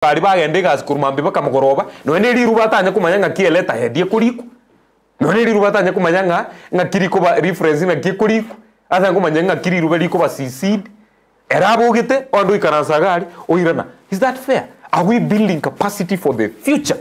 Baria bagenda egasi korwa mambia mpaka mogoroba, nonya ne riruba atanye komanya ng'aki eleta head ekorikwa, nonya ne riruba atanye komanya ng'a ng'aki rikoba reference ng'aki ekorikwa, atanye komanya ng'aki riruba rikoba cc'd, ere abogete onde oikaransa iga aria oirana. Is that fair? Are we building capacity for the future?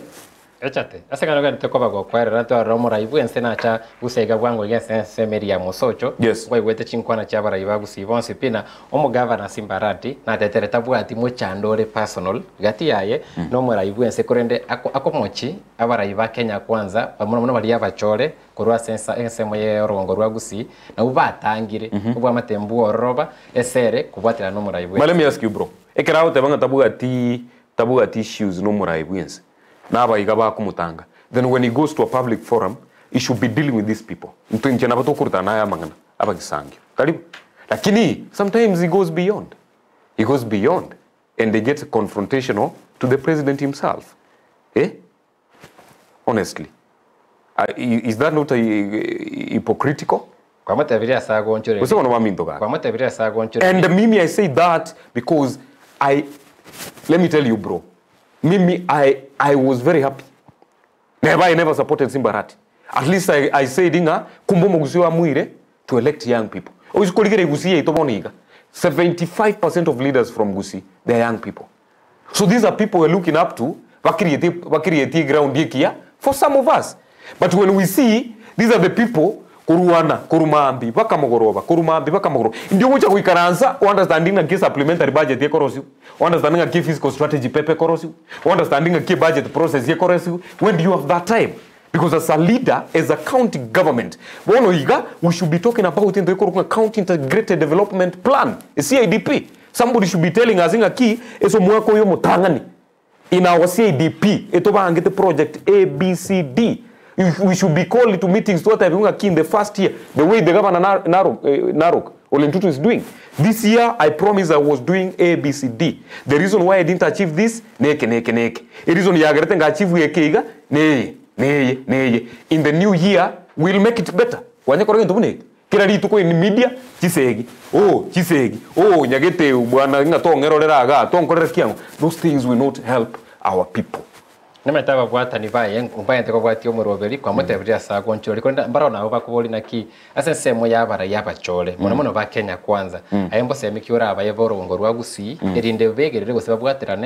Echate, ase ekero ogenderete koba gokwerera, twarora omorai bw'ense nacha gusa iga bwango iga ase ensemo eria ya mosocho, Yes. nkwaigwete chinkwana chi'abarai ba Gusii bonsi pi na omogavana Simbarati natetere tabwati mochando ore personal gati yaye na omorai bw'ense korende ako akomochi abarai ba Kenya Kwanza mono mono baria abachore korwa ase ensa ensemo ye orogongo rwa Gusii nabwo batangire obwamate mbwororoba esere kobwaterana na omorai But let bw'ense. me ask you bro, ekero agoteba ng'a tabwati tabwati issues na omorai bw'ense, na abaiga bakomotanga, then when he goes to a public forum, he should be dealing with these people. Intwe inche nabo tokorutana naye amang'ana, abagisangio. Karibu. Lakini sometimes he goes beyond. He goes beyond and he gets confrontational to the president himself. Eh? Honestly. Uh, is that not a, hypocritical? Kwamotebirie ase agonchoreria. Gose bono baminto gaki. Kwamotebirie ase agonchoreria. And mimi I say that because I let me tell you bro mimi I I was very happy neba I never supported Simba Arati at least I, I said ng'a kumbe omogusii oamuire to elect young people oise korigereria Gusii yaito bono iga 75% of leaders from Gusii they are young people So these are people we're looking up to bakirieti bakirieti eground ekiya for some of us but when we see these are the people korwana korwa maambia mpaka mogoroba korwa maambia mpaka mogoroba indio ogocha goikaransa o understanding ng'aki esupplementary budget ekorosiwa o understanding ng'aki efiscal strategy paper ekorosiwa o understanding ng'aki ebudget process ekorosiwa when do you have that time because as a leader as a county government bono iga we should be talking about into ekorokwa ng'a county integrated development plan CIDP Somebody should be telling us ng'aki ase omwaka oyo omotang'ani in our CIDP etobangete project A, B, C, D. We should be called to meetings twatebigwa ng'aki in the first year the way the governor Narok, Narok Ole Ntutu is doing. This year I promise I was doing A, B, C, D. The reason why I didn't achieve this neke neke neke. Ereason yagerete nga achieve eke iga neye neye neye. In the new year we'll make it better. Kwanya kora gento buna eke. Kera rituko in media, chisegi, oh chisegi, oh nyagete bwana ng'a tong'erorera igaa, tonkorera kiang'o, those things will not help our people. Namanyete ababwatani baye mbaete kobwatia omoroberi, kwamotebirie ase agonchoreri, korende mbarao nabo bakoboria naki ase ensemo y'abarai abachore, mono mono ba Kenya Kwanza, aye mbosemi ki orabaye b'orogongo rwa Gusii, erinde begerere gose babwaterane.